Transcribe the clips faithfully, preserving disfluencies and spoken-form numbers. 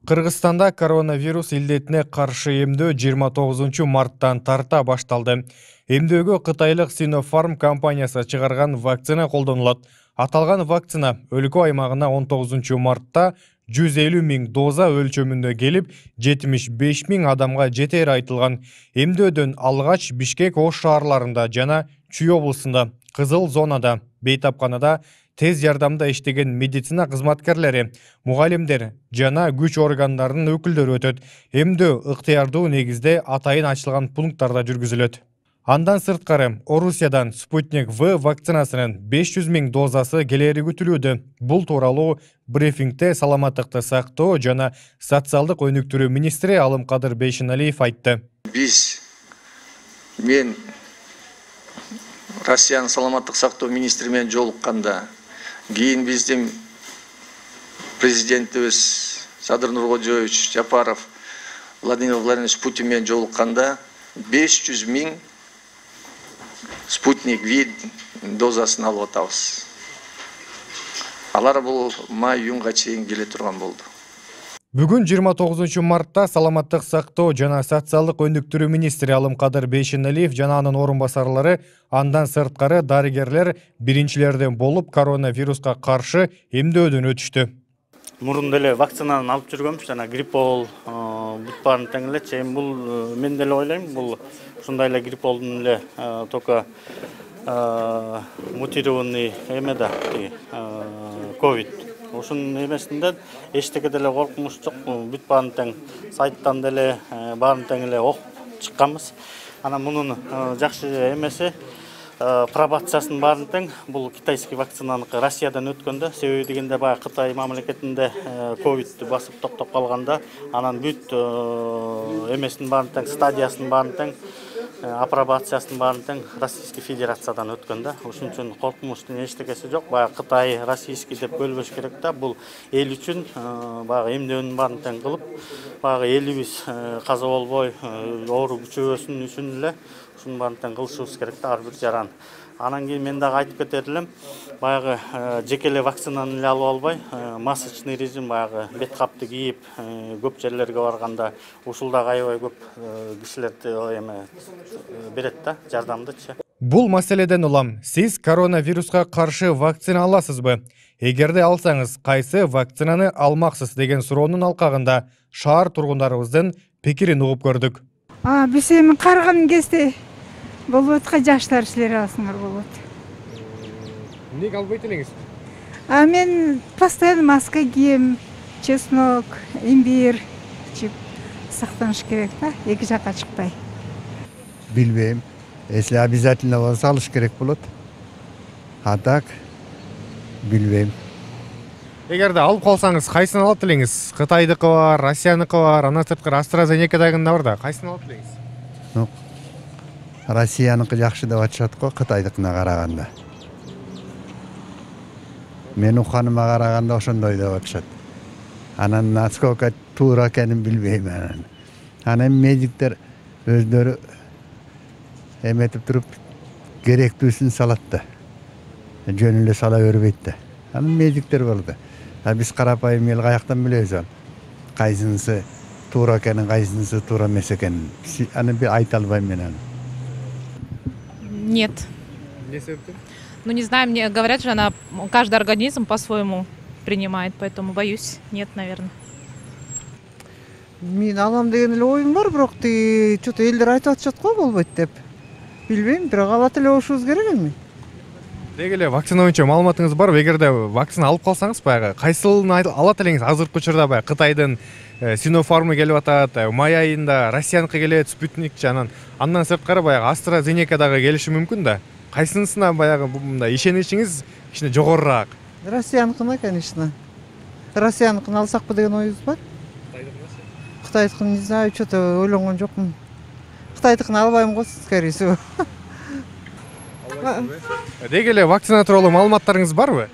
Кыргызстанда коронавирус илдетине каршы эмдөө жыйырма тогузунчу марттан тарта башталды. Эмдөөгө кытайлык Sinopharm компаниясы чыгарган вакцина колдонулат. Аталган вакцина өлкө аймагына он тогузунчу мартта жүз элүү миң доза өлчөмүндө келип, жетимиш беш миң адамга жетери айтылган. Эмдөөдөн алгач Бишкек Ош шаарларында жана Чүй облусунда, кызыл зонада, бейтапканада тез жардамда иштеген медицина кызматкерлери, мугалимдер жана күч органдарынын өкүлдөрү өтөт. Эмдөө ыктыярдуу негизде атайын ачылган пункттарда жүргүзүлөт. Андан сырткары Орусиядан Спутник В вакцинасынын беш жүз миң дозасы келери күтүлүүдө. Бул тууралуу брифингде саламаттыкты сактоо жана социалдык өнүктүрүү министри Алымкадыр Бейшеналиев айтты. Биз мен Россиянын саламаттык сактоо министри менен жолукканда, кийин биздин президентибиз Садыр Нуркожоевич Жапаров Владимир Владимирович Путин менен жолукканда беш жүз миң Спутник В дозасын алып атабыз. Алар бул май-июнга чейин келе турган болду. Бүгүн жыйырма тогузунчу мартта саламаттык сактоо жана социалдык өнүктүрүү министри Алымкадыр Бейшеналиев жана анын орун басарлары, андан сырткары дарыгерлер биринчилерден болуп коронавируска каршы эмдөөдөн өтүштү. Мурун деле вакцинаны алып жүргөмүш, жана гриппол бүт баарын тең элечи. Эми бул мен деле ойлойм, бул ушундай эле грипполдун эле только мутированный эме да, ковид. Ушунун эмесинде эчтеке деле коркунуч жок. Бүт баарын тең сайттан деле баарын тең эле окуп чыкканбыз. Анан мунун жакшы эмеси пробациясынын баарын тең бул китайский вакцинаныкы Россиядан өткөндө, себеби дегенде баягы Кытай мамлекетинде ковидти басып токтоп калганда, анан бүт эмесинин баарын тең, стадиясынын баарын тең, апробациясынын баарын тең Российский Федерациядан өткөндө. Ошон үчүн коркунучтун эчтекеси жок. Баягы Кытай, Российский деп бөлбөш керек да. Бул эл үчүн баягы эмдөөнүн баарын тең кылып, баягы элибиз каза болбой, оору күчөбөсүн үчүн эле ушунун баарын тең кылышыбыз керек да, ар бир жаран. Анан кийин мен дагы айтып кетер элем, баягы жеке эле вакцинаны эле алып албай, масочный режим, баягы бет капты кийип, көп жерлерге барганда ушул дагы аябай көп кишилерди эме берет да, жардамдычы. Бул маселеден улам, сиз коронавируска каршы вакцина аласызбы? Эгерде алсаңыз, кайсы вакцинаны алмаксыз деген суроонун алкагында шаар тургундарыбыздын пикирин угуп көрдүк. А, биз эми карыган кезде болот, жаштар силер алсаңар болот. Эмнеге албайт элеңиз? А мен постоянно маска кийем, чеснок, имбирь ичип сактаныш керек да, эки жакка чыкпай. Билбейм. Если обязательно болсо алыш керек болот. А так билбейм. Эгерде алып калсаңыз, кайсын алат элеңиз? Кытайдыкы бар, Россияныкы бар, андан сырткары AstraZeneca дагында бар да, кайсын алат элеңиз? Ну, Россияныкы жакшы деп атышат го, Кытайдыкына караганда. Мен уханыма караганда ошондой деп атышат. Анан насколько туура экенин билбейм анан. Анан медиктер өздөрү эметип туруп керектүүсүн салат да. Жөн эле сала бербейт да. Анан медиктер бар да. А биз карапайым эл каяктан билебиз ал? Кайсынысы туура экенин, кайсынысы туура эмес экенин. Аны айта албайм мен аны. Нет. Не себептен? Ну, не знаю, мне говорят же, она каждый организм по-своему принимает, поэтому боюсь. Нет, наверное. Мен алам деген эле оюм бар, бирок тиги что-то элдер айтып атышат го болбойт деп. Билбейм, бирок алат эле болушубуз керек эми. Деги эле вакцина боюнча маалыматыңыз барбы? Эгерде вакцина алып калсаңыз, баягы кайсылын алат элеңиз? Азыркы учурда баягы Кытайдын Sinopharm келип атат, май айында Россияныкы келет, Спутник жанан. Андан сырткары баягы AstraZeneca дагы келиши мүмкүн да. Кайсынысына баягы мындай ишеничиңиз кичине жогорураак? Россияныкына, конечно. Россияныкын алсакпы деген оюбуз бар. Кытайдыкын не знаю, что-то ойлонгон жокмун. Кытайдыкын албайм го, скорее всего. Деги эле вакцина тууралуу маалыматтарыңыз барбы?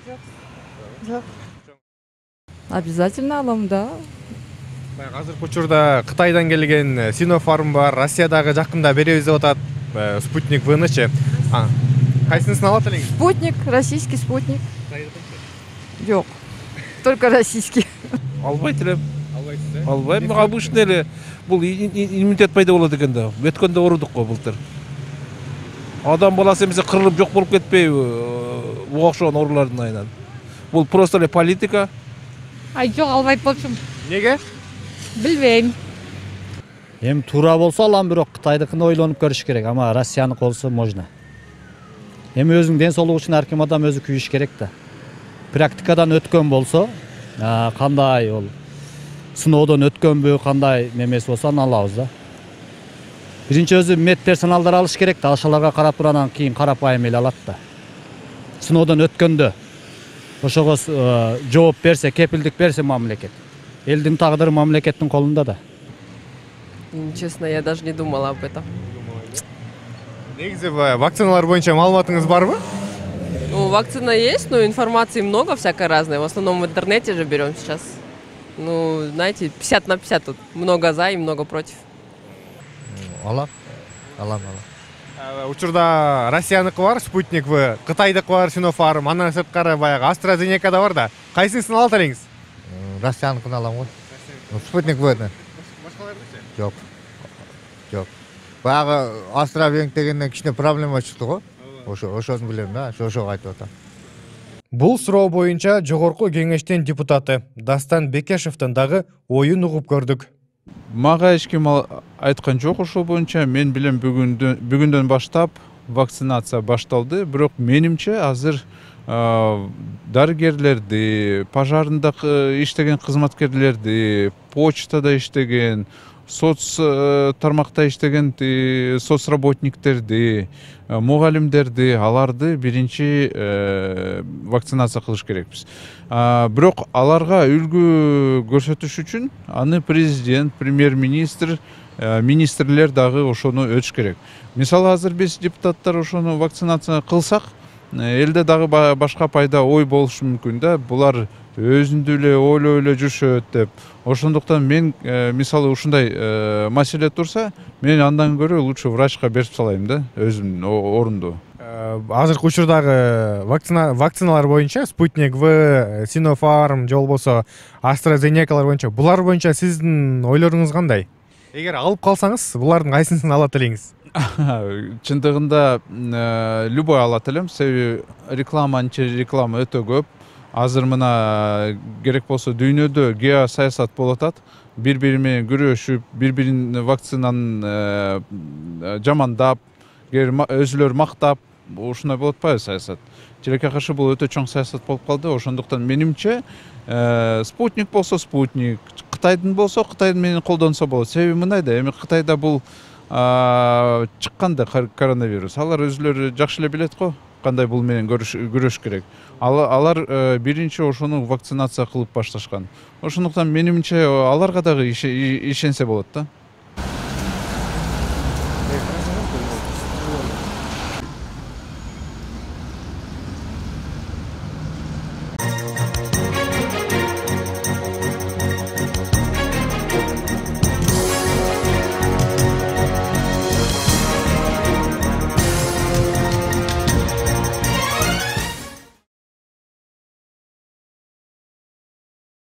Жок. Обязательно алам, да. Азыркы учурда Кытайдан келген Синофарм бар, Россиядагы жакында беребиз деп атат Спутник В'нычы. Кайсынысын алат элеңиз? Спутник, российский спутник. Жоқ, только российский. Албайт элем. Албайсыз, э? Албайм. Обычный эле бул иммунитет пайда болот экен да. Өткөндө оорудук го былтыр. Адам баласы эмесе кырылып жок болуп кетпейби? Буга окшогон оорулардын айынан. Бул просто эле политика. Ай, жоқ, албайт болчумун. Неге? Билбейм. Эми туура болсо алам, бирок Кытайдыкын ойлонуп көрүш керек, ама Россияныкы болсо можно. Эми өзүнүн ден соолугу үчүн ар ким адам өзү күйүш керек да. Практикадан өткөн болсо, кандай ол сыноодон өткөнбү, кандай немеси болсо аны алабыз да. Биринчи өзү мед персоналдар алыш керек да, ошолорго карап туруп анан кийин карапайым эле алат да. Сыноодон өткөндө ошого жооп берсе, кепилдик берсе мамлекет. Элдин тагдыры мамлекеттин колунда да. Честно, я даже не думала об этом. Негизи вакциналар боюнча маалыматыңыз барбы? Ну, вакцина есть, но информации много всякой разной. В основном в интернете же берем сейчас. Ну, знаете, пятьдесят на пятьдесят тут. Много за и много против. Алам, алам, алам. Учурда Россияныкы бар, Спутник В, Кытайдыкы бар, Синофарм, андан сырткары баягы AstraZeneca да бар да. Кайсынысын алат элеңиз? Россияныкын алам го. Спутник В'ны. Башкалардычы? Жок. Жок. Баягы AstraZeneca дегенден кичине проблема чыкты го. Ошо, ошону билем да, ошого айтып атам. Бул суроо боюнча жогорку кеңештин депутаты Дастан Бекешевдин дагы оюн угуп көрдүк. Мага эч ким айткан жок ошол боюнча. Мен билем бүгүндөн бүгүндөн баштап вакцинация башталды, бирок менимче азыр дарыгерлерди, пожарында иштеген кызматкерлерди, почтада иштеген, соц тармакта иштеген соцработниктерди, мугалимдерди, аларды биринчи вакцинация кылыш керекпиз. Бирок аларга үлгү көрсөтүш үчүн аны президент, премьер-министр, министрлер дагы ошону өтүш керек. Мисалы азыр биз депутаттар ошону вакцинация кылсак, элде дагы башка пайда ой болушу мүмкүн да. Булар өзүндү эле ойлой эле жүрүшөт деп. Ошондуктан мен мисалы ушундай маселе турса, мен андан көрө лучше врачка берип салайм да, өзүмдүн орунду. Азыркы учурдагы вакцина вакциналар боюнча Спутник В, Синофарм же болбосо AstraZenecалар боюнча, булар боюнча сиздин ойлоруңуз кандай? Эгер алып калсаңыз, булардын кайсынысын алат элеңиз? Чындыгында любой алат элем, себеби реклама реклама өтө көп. Азыр мына керек болсо дүйнөдө геосаясат болуп атат. Бири-бири менен күрөшүп, бири-бирин вакцинаны жамандап, өзүлөр мактап, ушундай болуп атпайбы саясат. Тилекке каршы бул өтө чоң саясат болуп калды. Ошондуктан менимче Спутник болсо Спутник, Кытайдын болсо Кытайдын менен колдонсо болот. Себеби мындай да, эми Кытайда бул чыкканда коронавирус, алар өзүлөрү жакшы эле билет го, кандай бул менен күрөш керек. Алар биринчи ошону вакцинация кылып башташкан. Ошондуктан менимче аларга дагы ишенсе болот да.